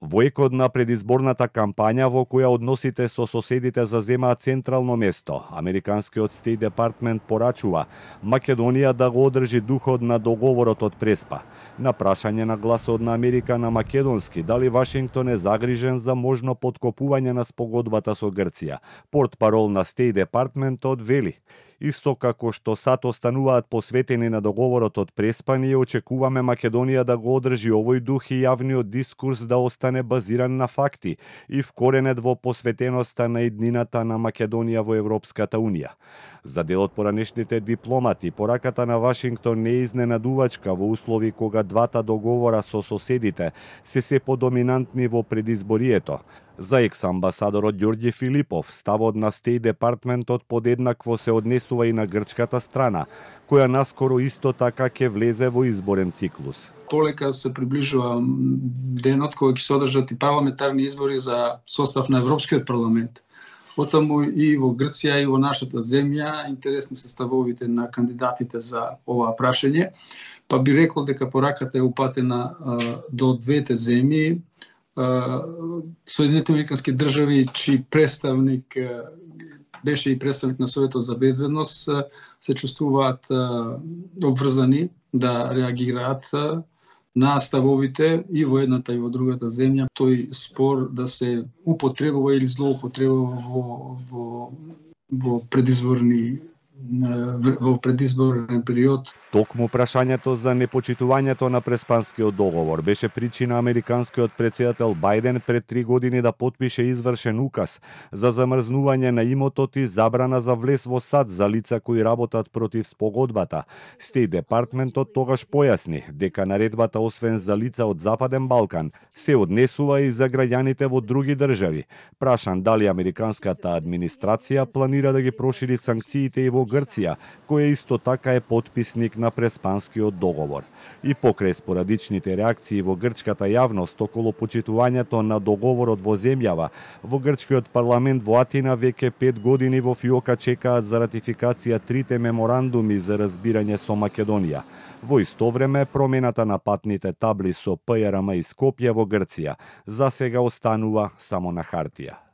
Во екот на предизборната кампања во која односите со соседите заземаат централно место, американскиот Стейт Департмент порачува Македонија да го одржи духот на договорот од Преспа. На прашање на Гласот на Америка на македонски дали Вашингтон е загрижен за можно поткопување на спогодбата со Грција, портпарол на Стейт Департментот вели: исто како што сад остануваат посветени на договорот од Преспа, ние очекуваме Македонија да го одржи овој дух и јавниот дискурс да остане базиран на факти и вкоренет во посветеноста на иднината на Македонија во Европската Унија. За дел од поранешните дипломати, пораката на Вашингтон не е изненадувачка во услови кога двата договора со соседите се подоминантни во предизборието. За екс-амбасадорот Ѓорѓи Филипов, ставот на Стейт Департментот подеднакво се однесува и на грчката страна, која наскоро исто така ќе влезе во изборен циклус. Полека се приближува денот кој ќе се одржат и парламентарни избори за состав на Европскиот парламент. Потаму и во Грција и во нашата земја интересни се ставовите на кандидатите за ова прашање, па би рекло дека пораката е упатена до двете земји. Соединетите американски држави, чиј представник беше и представник на Советот за безбедност, се чувствуваат обврзани да реагираат на ставовите и во едната и во другата земја. Тој спор да се употребува или злоупотребува во предизборен период. Токму прашањето за непочитувањето на Преспанскиот договор беше причина американскиот претседател Бајден пред 3 години да потпише извршен указ за замрзнување на имотот и забрана за влез во САД за лица кои работат против спогодбата. Стейт Департментот тогаш појасни дека наредбата освен за лица од Западен Балкан се однесува и за граѓаните во други држави. Прашан дали американската администрација планира да ги прошири санкциите и во Грција, која исто така е потписник на Преспанскиот договор. И покрај спорадичните реакции во грчката јавност околу почитувањето на договорот во земјава, во грчкиот парламент во Атина веќе 5 години во фиока чекаат за ратификација 3 меморандуми за разбирање со Македонија. Во исто време, промената на патните табли со ПРМ и Скопје во Грција за сега останува само на хартија.